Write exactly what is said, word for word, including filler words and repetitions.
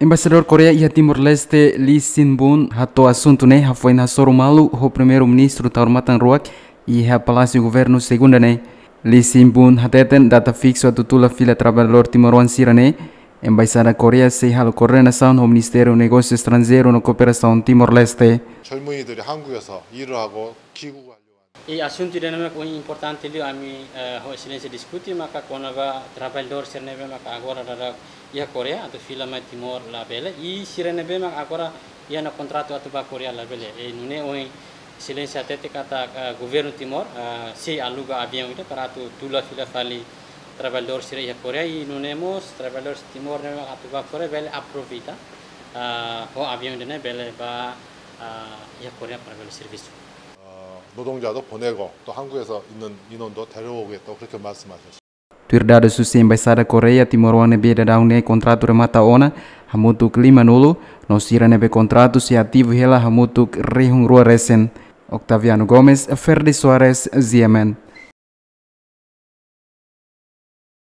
Embaixadór Koreia iha Timor-Leste, Lee Sin-bun, hato'o asuntu ne'e hafoin hasoru malu ho Primeiru-Ministru Taur Matan Ruak iha Palásiu Governu Segunda ne'e. Lee Sin-bun hateten data fiksu atu tula fila traballadór timoroan sira ne'e, Embaixada Koreia sei halo koordenasaun ho Ministériu Negósiu Estranjeiru no Kooperasaun Timor-Leste. 젊은이들이 한국에서 일을 하고 귀국을 하려고 하는 I asuntu ida-ne'e mak importante liu, ami, eh, ho Exelénsia diskute maka kona-ba traballadór sira ne'ebé maka agora daudaun iha Koreia atu fila mai Timor labele, i sira ne'ebé maka agora iha ona kontratu atu bá Koreia labele. I nune'e ohin Exelénsia hatete katak, eh, Governu Timor, eh, sei aluga aviaun ida para atu tula fila fali traballadór sira iha Koreia, i nune'e mós traballadór Timor ne'ebé maka atu bá Koreia bele aproveita, eh, ho aviaun ida-ne'e bele bá, eh, iha Koreia para bele servisu. 어, 노동자도 보내고 또 한국에서 있는 인원도 데려오겠다고 그렇게 말씀하셨습니다. Tuir dadus husi Embaixada Koreia, timoroan ne'ebé daudaun ne'e kontratu remata ona hamutuk limanulu, no sira ne'ebé kontratu sei ativu hela hamutuk rihun rua resin. Octaviano Gomes, Ferdi Soares, G M N.